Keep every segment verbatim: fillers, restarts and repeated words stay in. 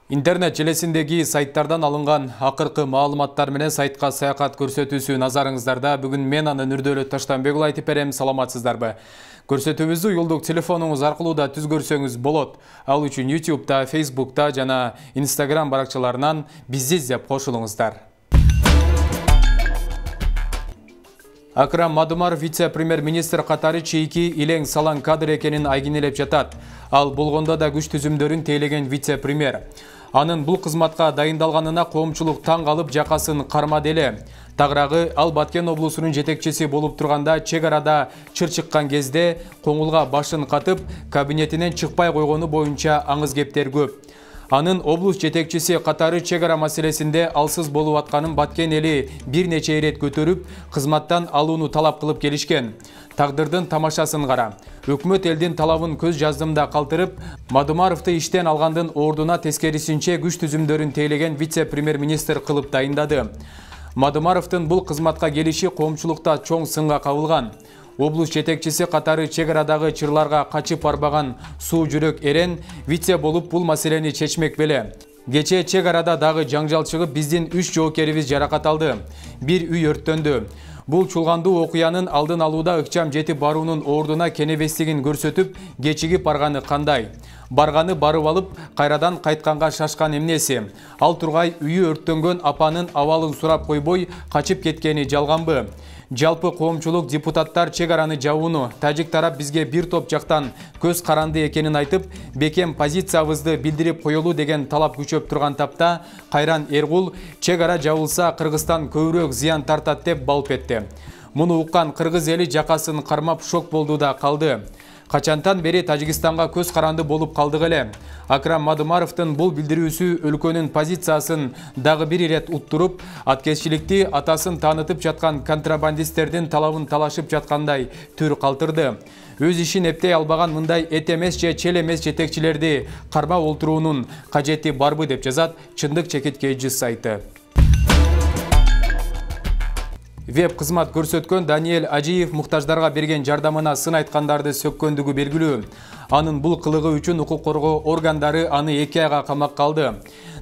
Интернет желесиндеги сайттардан алынган акыркы маалыматтар менен сайтка саякат көрсөтүүсү назарыңыздарда. Бүгүн мен аны Нурдөөлөт Таштанбек айтып берем. Саламатсыздарбы? Көрсөтүүбүздү юлдук телефонуңуз аркылуу да түз көрсөңүз болот. Ал үчүн ютубта, фейсбукта жана инстаграм баракчаларынан бизди издеп кошулуңуздар. Акрам Мадумаров вице-премьер-министр катары чейки илең салаң кадр экенин айгинелеп жатат. Ал болгондо да күч түзүмдөрүн тейлеген вице-премьер. Анын бул кызматка дайындалганына коомчулук таң калып жакасын кармады эле. Тагыраагы ал Баткен облусунун жетекчиси болуп турганда чек арада чыр чыккан кезде коңулга башын катып, кабинетинен чыкпай койгону боюнча аңыз кептер көп. Анын облус жетекчиси катары чек ара маселесинде алсыз болуп атканын Баткен эли бир нече ирет көтөрүп, кызматтан алууну талап кылып келишкен. Тагдырдын тамашасын кара. Өкмөт элдин талабын көз жаздымда калтырып, Мадумаровду иштен алгандын ордуна тескерисинче күч түзүмдөрүн тейлеген вице-премьер-министр кылып дайындады. Мадумаровдун бул кызматка келиши коомчулукта чоң сынга кабылган. Облус жетекчиси катары чек арадагы чырларга качып барбаган суу жүрөк эрен вице болуп бул маселени чечмек беле. Кечээ чек арада дагы жаңжал чыгып, биздин үч жоокерибиз жаракат алды. Бир үй өрттөндү. Бул чулгандуу окуянын алдын алууда ыкчам жетип баруунун ордуна кенебестигин көрсөтүп, кечигип барганы кандай? Барганы барып алып, кайрадан кайтканга шашкан эмнеси? Ал тургай үйү өрттөнгөн апанын абалын сурап койбой, качып кеткени жалганбы? Жалпы коомчулук депутаттар чек араны жабууну, тажик тарап бизге бир топ жактан көз каранды экенин айтып, бекем позициябызды билдирип коелу деген талап күчөп турган тапта, Кайран Эргул чек ара жабылса Кыргызстан көбүрөөк зыян тартат деп балп этти. Муну уккан кыргыз эли жакасын кармап шок болду да калды. Качантан бери Тажикстанга көз каранды болуп калдык эле. Акрам Мадумаровдун бул билдирүүсү өлкөнүн позициясын дагы бир ирет уттуруп, аткезчиликти атасын таанытып жаткан контрабандисттердин талабын талашып жаткандай түр калтырды. Өз ишин эптей албаган мындай эт эмес же чел эмес жетекчилерди кармап олтуруунун кажети барбы деп жазат Чындык чекиткейчи сайты. Веб-кызмат көрсөткөн Даниэль Ажиев муктаждарга берген жардамына сын айткандарды сөккөндүгү белгилүү. Анын бул кылыгы үчүн укук коргоо органдары аны эки айга камакка алды.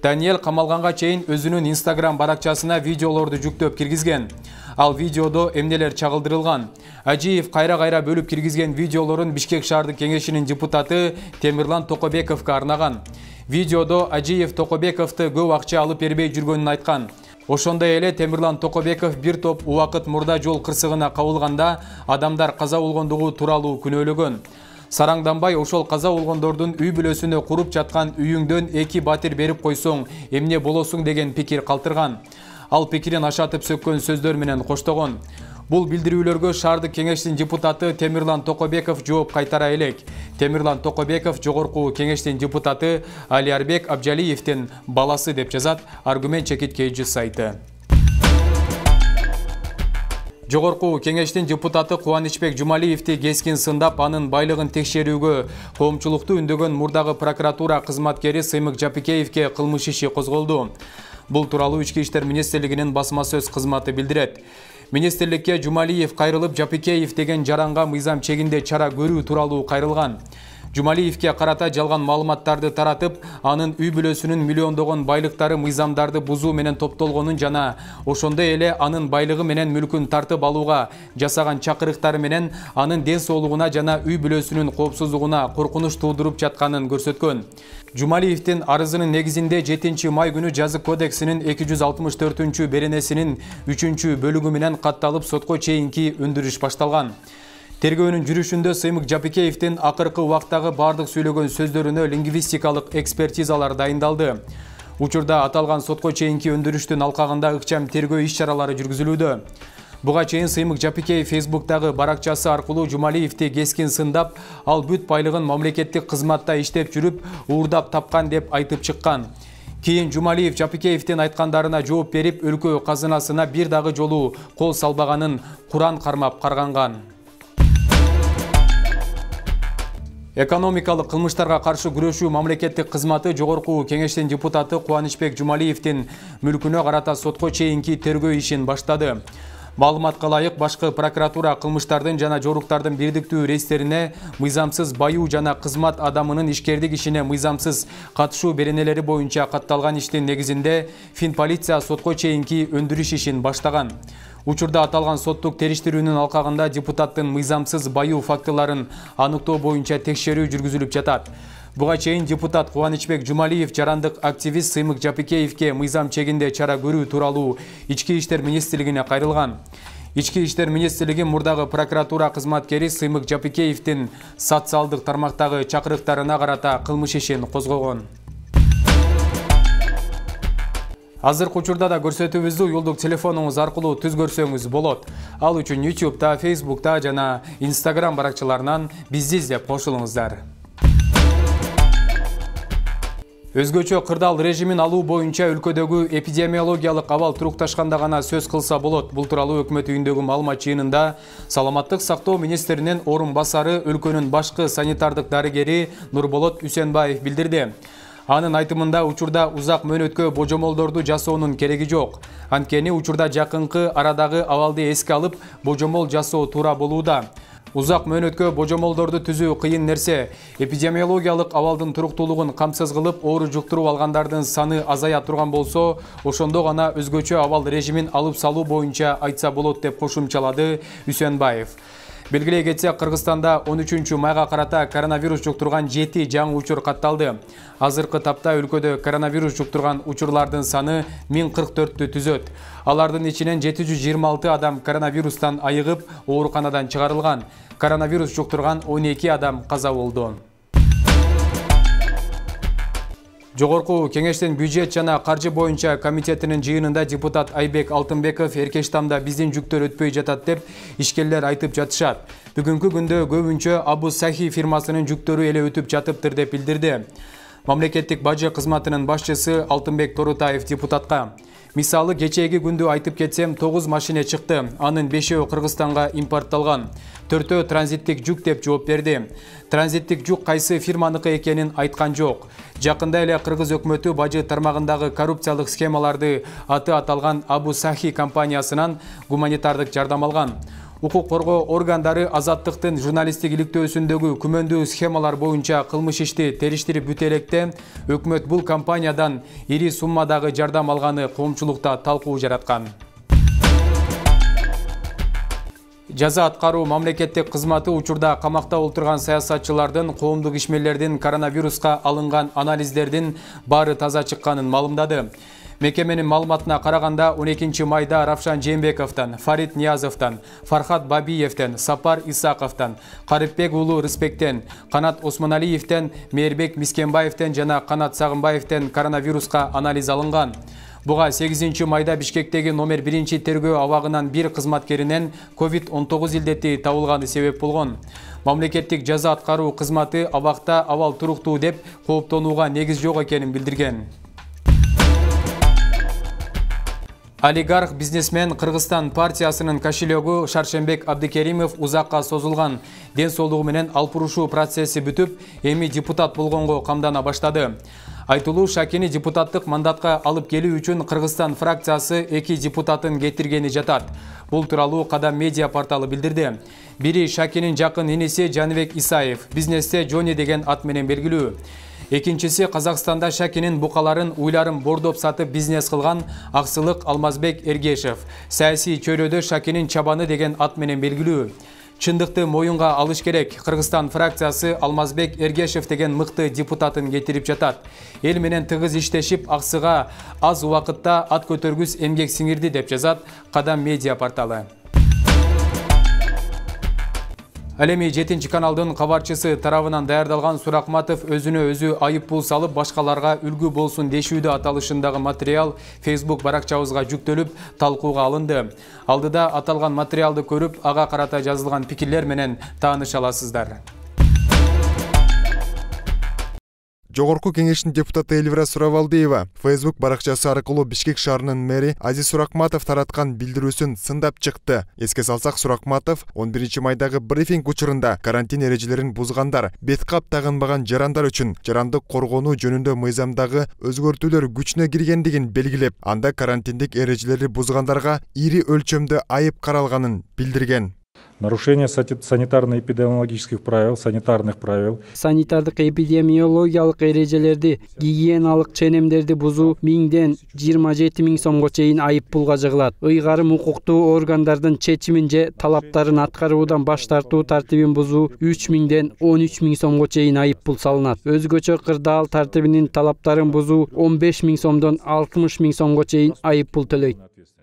Даниэль камалганга чейин өзүнүн инстаграм баракчасына видеолорду жүктөп киргизген. Ал видеодо эмнелер чагылдырылган. Ажиев кайра-кайра бөлүп киргизген видеолорун Бишкек шаардык кеңешинин депутаты Темирлан Токобековго арнаган. Видеодо Ажиев Токобековду көп акча алып бербей жүргөнүн айткан. Ошондой эле Темирлан Токобеков бир топ убакыт мурда жол кырсыгына кабылганда адамдар каза болгондугу тууралуу күнөөлөгөн. Сараңданбай ошол каза болгондордун үй бүлөсүнө куруп жаткан үйүңдөн эки батир берип койсоң эмне болосуң деген пикир калтырган. Ал пикирин ашатып сөккөн сөздөр менен коштогон. Бул билдирүүлөргө шаардык кеңештин депутаты Темирлан Токобеков жооп кайтара элек. Темирлан Токобеков жогорку кеңештин депутаты Алиарбек Абжалиевдин баласы деп жазат Аргумент чекиткейчи сайты. Жогорку кеңештин депутаты Кубанычбек Жумалиевди кескин сындап, анын байлыгын текшерүүгө коомчулукту үндөгөн мурдагы прокуратура кызматкери Сыймык Жапикеевге кылмыш иши козголду. Бул тууралуу Ички иштер министрлигинин басма сөз кызматы билдирет. Министрликке Жумалиев кайрылып, Жапикеев деген жаранга мыйзам чегинде чара көрүү тууралуу кайрылган. Жумалиевке карата жалган маалыматтарды таратып, анын үй бүлөсүнүн миллиондогон байлыктары мыйзамдарды бузуу менен топтолгонун жана ошондой эле анын байлыгы менен мүлкүн тартып алууга жасаган чакырыктары менен анын ден соолугуна жана үй бүлөсүнүн коопсуздугуна коркунуч туудуруп жатканын көрсөткөн. Жумалиевдин арызынын негизинде жетинчи май күнү Жазык кодексинин эки жүз алтымыш төртүнчү беренесинин үчүнчү бөлүгү менен катталып сотко чейинки өндүрүш башталган. Тергөөнүн жүрүшүндө Сыймык Жапикеевдин акыркы убактагы бардык сүйлөгөн сөздөрүнө лингвистикалык экспертизалар дайындалды. Учурда аталган сотко чейинки өндүрүштүн алкагында ыкчам тергөө иш-чаралары жүргүзүлүүдө. Буга чейин Сыймык Жапикеев фейсбуктагы баракчасы аркылуу Жумалиевди кескин сындап, ал бүт байлыгын мамлекеттик кызматта иштеп жүрүп, уурдап тапкан деп айтып чыккан. Кийин Жумалиев Жапикеевдин айткандарына жооп берип, өлкө казынасына бир дагы жолу кол салбаганын Куран кармап карганган. Экономикалык кылмыштарга каршы күрөшүү мамлекеттик кызматы жогорку кеңештин депутаты Кубанычбек Жумалиевдин мүлкүнө карата сотко чейинки тергөө ишин баштады. Маалыматка ылайык, башкы прокуратура кылмыштардын жана жоруктардын бирдиктүү рейстерине мыйзамсыз баюу жана кызмат адамынын ишкердик ишине мыйзамсыз катышуу беренелери боюнча катталган иштин негизинде Финполиция сотко чейинки өндүрүш ишин баштаган. Учурда аталган соттук териштирүүнүн алкагында депутаттын мыйзамсыз баюу фактыларын аныктоо боюнча текшерүү жүргүзүлүп жатат. Буга чейин депутат Кубанычбек Жумалиев жарандык активист Сыймык Жапикеевке мыйзам чегинде чара көрүү тууралуу Ички иштер министрлигине кайрылган. Ички иштер министрлиги мурдагы прокуратура кызматкери Сыймык Жапикеевдин социалдык тармактагы чакырыктарына карата кылмыш ишин козгогон. Азыркы учурда да көрсөтүүбүздү уюлдук телефонуңуз аркылуу түз көрсөңүз болот. Ал үчүн ютубта, фейсбукта жана инстаграм баракчаларынан бизди издеп кошулуңуздар. Өзгөчө кырдаал режимин алуу боюнча өлкөдөгү эпидемиологиялык абал турукташканда гана сөз кылса болот. Бул тууралуу өкмөт үйүндөгү маалымат жыйынында Саламаттык сактоо министринин орун басары, өлкөнүн башкы санитардык дарыгери Нурболот Үсенбаев билдирди. Анын айтымында учурда узак мөөнөткө божомолдорду жасоонун кереги жок. Анткени учурда жакынкы арадагы абалды эске алып, божомол жасоо туура болууда. Узак мөөнөткө божомолдорду түзүү кыйын нерсе. Эпидемиологиялык абалдын туруктуулугун камсыз кылып, оору жуктуруп алгандардын саны азая турган болсо, ошондо гана өзгөчө абал режимин алып салуу боюнча айтса болот деп кошумчалады Үсенбаев. Белгилей кетсек, Кыргызстанда он үчүнчү майга карата коронавирус жуктурган жети жаңы учур катталды. Азыркы тапта өлкөдө коронавирус жуктурган учурлардын саны миң кырк төрттү түзөт. Алардын ичинен жети жүз жыйырма алты адам коронавирустан айыгып, ооруканадан чыгарылган. Коронавирус жуктурган он эки адам каза болду. Жогорку кеңештин бюджет жана каржы боюнча комитетинин жыйынында депутат Айбек Алтынбеков Эркештамда биздин жүктөр өтпөй жатат деп ишкерлер айтып жатышат. Бүгүнкү күндө көбүнчө Абу Сахи фирмасынын жүктөрү эле өтүп жатыптыр деп билдирди. Мамлекеттик бажы кызматынын башчысы Алтынбек Торутаев депутатка: Мисалы, кечээги күндү айтып кетсем, тогуз машина чыкты. Анын бешөө Кыргызстанга импортталган. Төртөө транзиттик жүк деп жооп берди. Транзиттик жүк кайсы фирманыкы экенин айткан жок. Жакында эле Кыргыз өкмөтү бажы тармагындагы коррупциялык схемаларды аты аталган Абу Сахи компаниясынан гуманитардык жардам алган. Укук коргоо органдары Азаттыктын журналисттик иликтөөсүндөгү күмөндүү схемалар боюнча кылмыш ишти териштирип бүтө электе, өкмөт бул компаниядан ири суммадагы жардам алганы коомчулукта талкуу жараткан. Жаза аткаруу мамлекеттик кызматы учурда камакта отурган саясатчылардын, коомдук ишмерлердин коронавируска алынган анализдердин баары таза чыкканын маалымдады. Мекеменин маалыматына караганда он экинчи майда Равшан Жээнбековдон, Фарид Ниязовдон, Фархат Бабиевден, Сапар Исаковдон, Карипбек уулу Рыспектен, Канат Осмоналиевден, Мээрбек Мискенбаевден жана Канат Сагынбаевден коронавируска анализ алынган. Буга сегизинчи майда Бишкектеги номер биринчи тергөө абагынан бир кызматкеринен ковид он тогуз илдети табылганы себеп болгон. Мамлекеттик жаза аткаруу кызматы абакта абал туруктуу деп кооптонууга негиз жок экенин билдирген. Олигарх бизнесмен Кыргызстан партиясынын кошелегу Шаршембек Абдыкеримов узакка созулган ден соолугу менен алпурушуу процесси бүтүп, эми депутат болгонго камдана баштады. Айтылуу Шакини депутаттык мандатка алып келүү үчүн Кыргызстан фракциясы эки депутатын кетиргени жатат. Бул тууралуу Кадам медиа порталы билдирди. Бири Шакинин жакын иниси Жаныбек Исаев, бизнесте Жони деген ат менен белгилүү. Экинчиси Казакстанда Шакинин букаларын уйларын бордоп сатып бизнес кылган Аксылык Алмазбек Эргешев, саясий чөйрөдө Шакинин чабаны деген ат менен белгилүү. Чындыкты моюнга алыш керек. Кыргызстан фракциясы Алмазбек Эргешев деген мыкты депутатын кетирип жатат. Эл менен тыгыз иштешип, аксыга аз убакытта ат көтөргүс эмгек сиңирди деп жазат Кадам медиа порталы. Ал эми жетинчи каналдын кабарчысы тарабынан даярдалган Суракматов өзүнө өзү айыппул салып, башкаларга үлгү болсун дешүүдө аталышындагы материал Facebook баракчабызга жүктөлүп, талкууга алынды. Алдыда аталган материалды көрүп, ага карата жазылган пикирлер менен тааныша аласыздар. Жогорку кеңештин депутаты Элвира Сурабалдиева Facebook баракчасы аркылуу Бишкек шаарынын мэри Азиз Суракматов тараткан билдирүүсүн сындап чыкты. Эске салсак, Суракматов он биринчи майдагы брифинг учурунда карантин эрежелерин бузгандар, бет кап тагынбаган жарандар үчүн жарандык коргонуу жөнүндө мыйзамдагы өзгөртүүлөр күчүнө киргендигин белгилеп, анда карантиндик эрежелерди бузгандарга ири өлчөмдө айып каралганын билдирген. Нарушение санитарно-эпидемиологических правил, санитарных правил. Санитардык эпидемиологиялык эрежелерди, гигиеналык ченемдерди бузуу миңден жыйырма жети миң сомго чейин айып пулга жыгылат. Ыйгарым укуктуу органдардын чечимин же талаптарын аткаруудан баш тартуу тартибин бузуу үч миңден он үч миң сомго чейин айып пул салынат. Өзгөчө кырдаал тартибинин талаптарын бузуу он беш миң сомдон алтымыш миң сомго чейин айып пул төлөйт.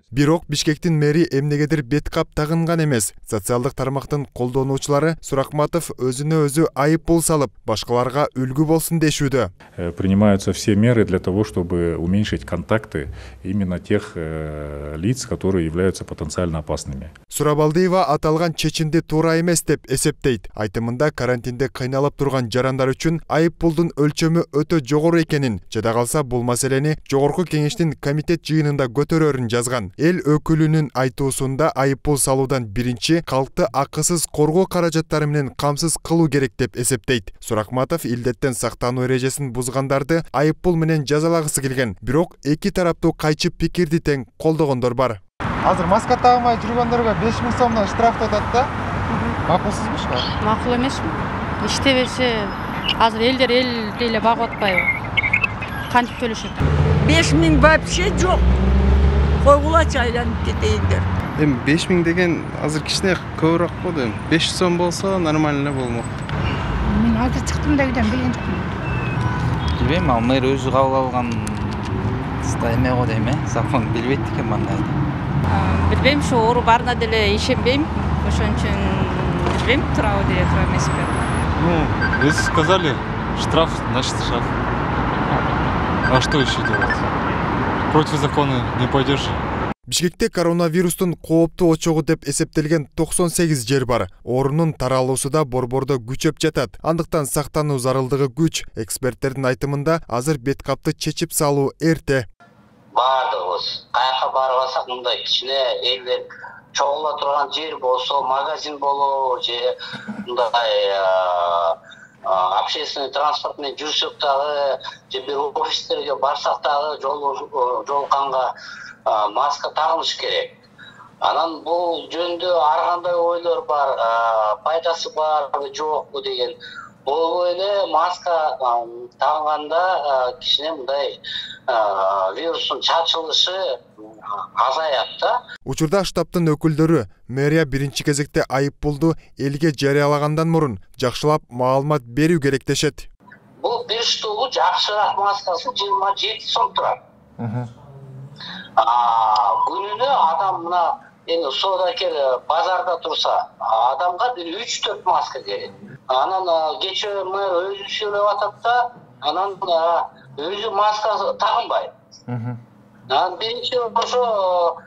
Бирок Бишкектин мэри эмнегедир бет кап тагынган эмес. Социалдык тармактын колдонуучулары Суракматов өзүнө өзү айып пул салып, башкаларга үлгү болсун дешүүдө. Принимаются все меры для того, чтобы уменьшить контакты именно тех лиц, которые являются потенциально опасными. Сурабалдиева аталган чечимди туура эмес деп эсептейт. Айтымында карантинде кыйналып турган жарандар үчүн айып пулдун өлчөмү өтө жогору экенин, жада калса бул маселени жогорку кеңештин комитет жыйынында көтөрөрүн жазган. Эл өкүлүнүн айтуусунда айып пул салуудан биринчи калкты акысыз коргоо каражаттары менен камсыз кылуу керек деп эсептейт. Суракматов илдеттен сактануу эрежесин бузгандарды айып пул менен жазалагысы келген. Бирок эки тараптуу кайчы пикирди тең колдогондор бар. Азыр маска тагынбай жүргөндөргө беш миң сомдон штраф атат да. Макулсузбу ушул? Макул эмесми? Иштебесе азыр элдер эл деле багып атпайбы? Кантип төлөшөт? беш миң вообще жок. Койгулачы айланып кетейиндер. Эми беш миң деген азыр кичине көбүрөөк болду. беш жүз сом болсо нормально болмок. Мен азыр чыктым да үйдөн билген жокмун. Билбейм, ал мэр өзү кабыл алган эме го дейм, э? Закон билбейт экен мындай. Билбейм, ошо оору барына деле ишенбейм. Ошон үчүн билбейм, туурабы деле туура эмеспи. Ну, вы сказали, штраф, значит штраф. А что еще делать? Против закона не пойдешь. Бишкекте коронавирустун кооптуу очогу деп эсептелген токсон сегиз жер бар. Оорунун таралуусу да борбордо күчөп жатат. Андыктан сактануу зарылдыгы күч. Эксперттердин айтымында азыр бет капты чечип салуу эрте. Бардыгыбыз каяка барбасак мындай кичине элдер чогула турган жер болсо, магазин болобу же мындай общественный транспорт менен жүрсөк дагы, же бир офистерге барсак дагы жолукканга маска тагыныш керек. Анан бул жөнүндө ар кандай ойлор бар, пайдасы барбы жокпу деген. Бул эле маска тагынганда кичине мындай вирустун чачылышы азаят да. Учурда штабтын өкүлдөрү мэрия биринчи кезекте айып пулду элге жарыялагандан мурун жакшылап маалымат берүү керек дешет. Бул бир штугу жакшыраак маскасы жыйырма жети сом турат. Күнүнө адам мына эми соодакер базарда турса, адамга бир үч төрт маска керек. Анан кечээ мэр өзү сүйлөп атат да, анан өзү маска тагынбайт. Анан биринчи ошо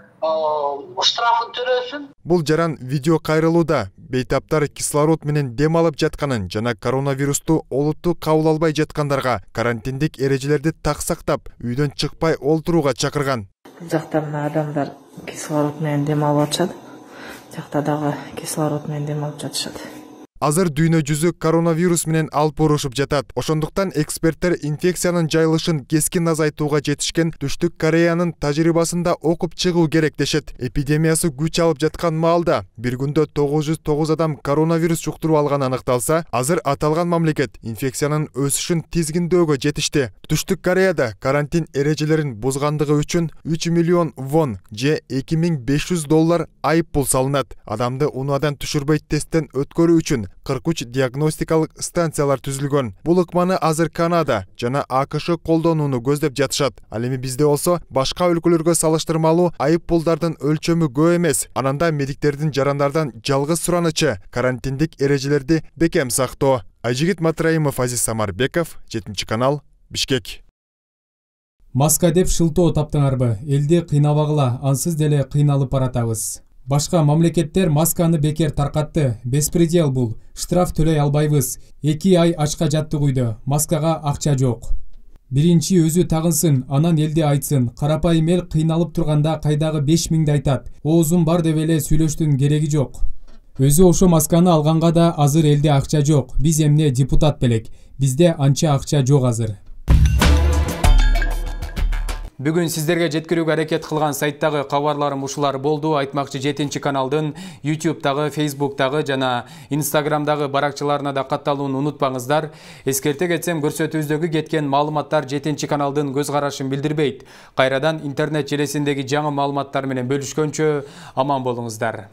штрафын төлөсүн. Бул жаран видео кайрылууда бейтаптар кислород менен дем алып жатканын жана коронавирусту олуттуу кабыл албай жаткандарга карантиндик эрежелерди так сактап, үйдөн чыкпай олтурууга чакырган. Бул жакта мына адамдар кислород менен дем алып атышат. Жакта дагы кислород менен дем алып жатышат. Азыр дүйнө жүзү коронавирус менен алпурушуп жатат. Ошондуктан эксперттер инфекциянын жайылышын кескин азайтууга жетишкен Түштүк Кореянын тажрыйбасында окуп чыгуу керек дешет. Эпидемиясы күч алып жаткан маалда бир күндө тогуз жүз тогуз адам коронавирус жуктуруп алганы аныкталса, азыр аталган мамлекет инфекциянын өсүшүн тизгиндөөгө жетишти. Түштүк Кореяда карантин эрежелерин бузгандыгы үчүн үч миллион вон же эки миң беш жүз доллар айып пул салынат. Адамды унаадан түшүрбөй тесттен өткөрүү үчүн кырк үч диагностикалык станциялар түзүлгөн. Бул ыкманы азыр Канада жана АКШ колдонууну көздөп жатышат. Ал эми бизде болсо башка өлкөлөргө салыштырмалуу айып пулдардын өлчөмү көп эмес. Ананда медиктердин жарандардан жалгыз суранычы карантиндик эрежелерди бекем сактоо. Айжигит Матраимов, Азиз Самарбеков, жетинчи канал, Бишкек. Маска деп шылтоо таптыңарбы? Элди кыйнабагыла, ансыз деле кыйналып баратабыз. Башка мамлекеттер масканы бекер таркатты. Беспредел бул. Штраф төлөй албайбыз. эки ай ачка жаттык үйдө. Маскага акча жок. Биринчи өзү тагынсын, анан элди айтсын. Карапайым эл кыйналып турганда кайдагы беш миңди айтат. Оозум бар деп эле сүйлөштүн кереги жок. Өзү ошо масканы алганга да азыр элде акча жок. Биз эмне депутат белек. Бизде анча акча жок азыр. Бүгүн сиздерге жеткирүүгө аракет кылган сайттагы кабарларым ушулар болду. Айтмакчы жетинчи каналдын ютубтагы, фейсбуктагы жана инстаграмдагы баракчаларына да катталууну унутпаңыздар. Эскерте кетсем, көрсөтүүбүздөгү кеткен маалыматтар жетинчи каналдын көз карашын билдирбейт. Кайрадан интернет желесиндеги жаңы маалыматтар менен бөлүшкөнчө аман болуңуздар.